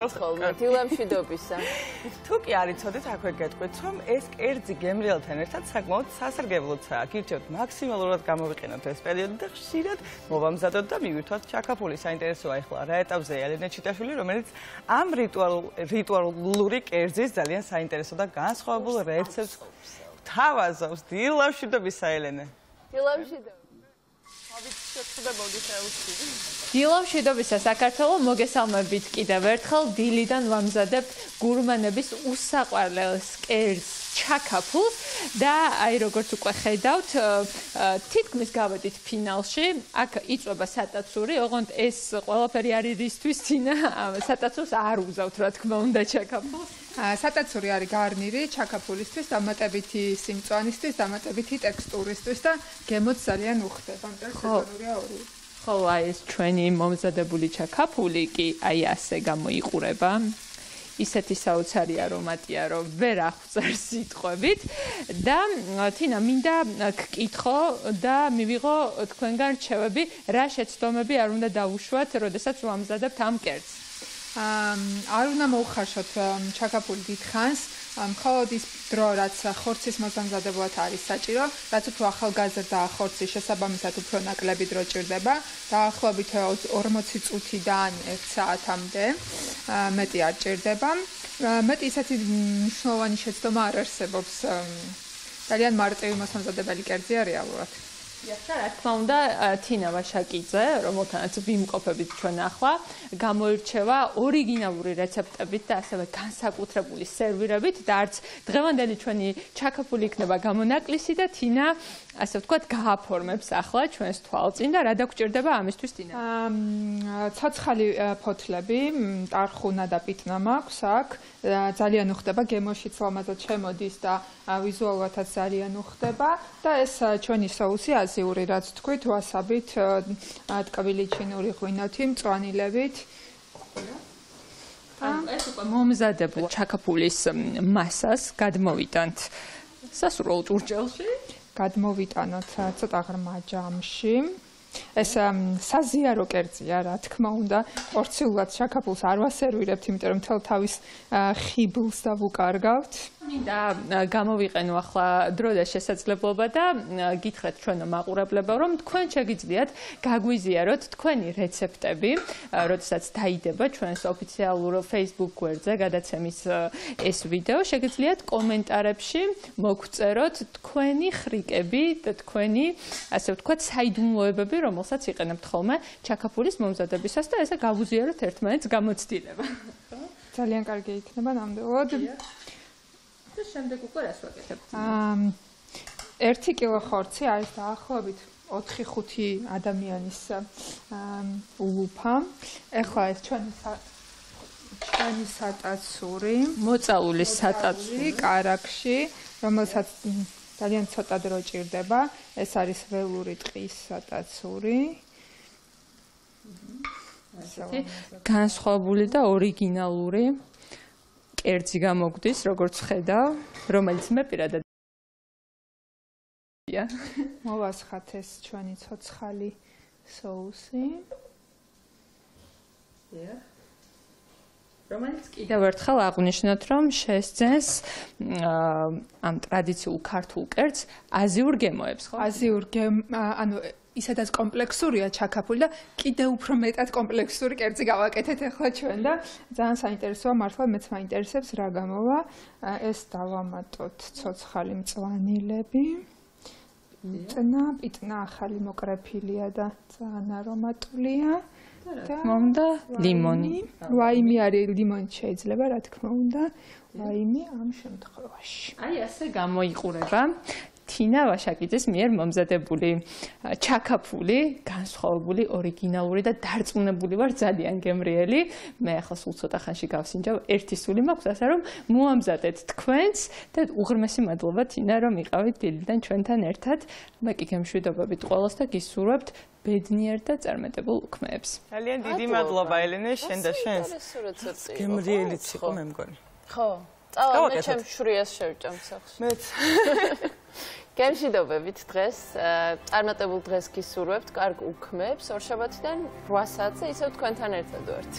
ხოლმე დილამშვიდობისა. თუ კი არ იცოდით, აქვე გეტყვით, რომ ეს კერძი გემრიელთან ერთად საკმაოდ სასარგებლოა. გირჩევთ მაქსიმალურად გამოვიყენოთ ეს პერიოდი და ხშირად მოვამზადოთ და მივირთვათ ჩაქაფული. საინტერესოა ახლა რა ეტაპზეა ელენე ჩიტაშვილი, რომელიც ამ რიტუალური კერძის ძალიან საინტერესო და განსხვავებულ რეცეპტს თავაზობს. დილამშვიდობისა ელენე. დილამშვიდობისა. დილამშვიდობისა საქართველო, მოგესალმებით კიდევ ერთხელ. დილიდან ვამზადებთ გურმანების უსაყვარლეს კერძს ჩაქაფულს და აი როგორც უკვე ხედავთ, თითქმის გავედით ფინალში. აქ იწვება სატაცური, ოღონდ ეს ყველაფერი არის რისთვის თინა სატაცურს არ უგზავთ, რა თქმა უნდა, ჩაქაფულს. სატაცური არის გარნირი ჩაქაფულისთვის, დამატებითი სიმწვანისთვის, დამატებითი ტექსტურისთვის და გემოც ძალიან უხდება. ხო, აი ეს ჩვენი მომზადებული ჩაქაფული კი აი ასე გამოიყურება. ისეთი საოცარი არომატია, რომ ვერ აღწერს სიტყვებით და თინა მინდა გკითხო და მივიღო თქვენგან რჩევები, რა შეცდომები არ უნდა დავუშვათ, როდესაც ვამზადებთ ამ კერძს. არ უნდა მოუხარშოთ ჩაქაფული დიდხანს, მხოლოდ ის დრო, რაც ხორცის მოსამზადებლად არის საჭირო, რაც უფრო ახალგაზრდა ხორცის შესაბამისად უფრო ნაკლები დრო ჭირდება, დაახლოებით 40 წუთიდან 1 საათამდე მეტი არ ჭირდება. მეტი ისეთი მნიშვნელოვანი შეცდომა არ არსებობს. ძალიან მარტივი მოსამზადებელი კერძია რეალურად. რა თქმა უნდა, თინა ვაშაკიძე, რომელთანაც ვიმყოფებით ჩვენ ახლა, გამოირჩევა ორიგინალური რეცეპტებით და ასევე განსაკუთრებული სერვირებით და არც დღევანდელი ჩვენი ჩაქაფული იქნება გამონაკლისი და თინა, ასე ვთქვათ, გააფორმებს ახლა ჩვენს თვალწინ და რა დაგჭირდება ამისთვის თინა? ცოცხალი ფოთლები, ტარხუნა და პიტნა მაქვს აქ. ძალიან უხდება, გემოშიც ლამაზად შემოდის და ვიზუალურადაც ძალიან უხდება და ეს ჩვენი соуსი აზიური, რაც თქვით, ვასაბით, ტკბილი ჩინური ღვინოთი, მწვანილებით. ეს უკვე მომზადებულ ჩაქაფულის მასას გადმოვიტანთ სასურველ ჭურჭელში. გადმოვიტანოთ ცოტა ღრმა ჯამში. ეს საზიარო კერძია, რა თქმა უნდა, პორციულად ჩაქაფულს არ ვასერვირებთ, იმიტომ რომ მთელ თავის ხიბლს დავუკარგავთ. მინდა გამოვიყენო ახლა დრო და შესაძლებლობა და გითხრათ ჩვენო მაყურებლებო, რომ თქვენ შეგიძლიათ გაგვიზიაროთ თქვენი რეცეპტები, როდესაც დაიდება ჩვენს ოფიციალურ Facebook გვერდზე გადაცემის ეს ვიდეო, შეგიძლიათ კომენტარებში მოგწეროთ თქვენი ხრიკები და თქვენი, ასე ვთქვათ, საიდუმლოებები, რომელსაც იყენებთ ხოლმე ჩაქაფულის მომზადებისას და ესე გავუზიაროთ ერთმანეთს გამოცდილება. ძალიან კარგი იქნება ნამდვილად. და შემდეგ უკვე რას ვაკეთებთ? 1 კილო ხორცი არის დაახლოებით 4-5 ადამიანის ულუფა. ეხლა ეს ჩვენი სატაცური, მოწაული სატაცური კარაქში, რომელსაც ძალიან ცოტა დრო ჭირდება. ეს არის ველური ტყის სატაცური. განსხვავებული და ორიგინალური კერძი გამოგვდის, როგორც ხედავ, რომელიც მე პირადად მოვასხათ ეს ჩვენი ცოცხალი соуსი. რომელიც კიდევ ერთხელ აღვნიშნოთ, რომ შესძენს ამ ტრადიციულ ქართულ კერძს აზიურ გემოებს, ხო? ანუ ისედაც კომპლექსურია ჩაქაფული და კიდევ უფრო მეტად კომპლექსური კერძი გავაკეთეთ ახლა ჩვენ და ძალიან საინტერესოა, მართლა მეც მაინტერესებს რა გამოვა. ეს დავამატოთ ცოცხალი მწვანილები. პიტნა ახალი მოკრეფილია და ძალიან არომატულია. და მომდა ლიმონი. ვაიმი არის, ლიმონი შეიძლება, რა თქმა უნდა, ვაიმი ამ შემთხვევაში. აი ასე გამოიყურება თინა ვაშაკიძის მიერ მომზადებული ჩაქაფული, განსხვავებული, ორიგინალური და დარწმუნებული ვარ, ძალიან გემრიელი. მე ახლა სულ ცოტა ხანში გავსინჯავ, ერთი სული მაქვს, ასე რომ მოამზადეთ თქვენც და უღრმესი მადლობა თინა, რომ იყავით დილიდან ჩვენთან ერთად. მე კი გემშვიდობებით ყველას და გისურვებთ ბედნიერ და წარმატებულ უქმეებს. ძალიან დიდი მადლობა ელენე, შენ და შენს. გემრიელიც იყო მე მგონი. ხო, წავა მე ჩემ შვრიას შევჭამ სახში. მეც. გემშვიდობებით დღეს, წარმატებულ დღეს გისურვებთ, კარგ უქმეებს, ორშაბათიდან 8 საათზე ისევ თქვენთან ერთად ვართ.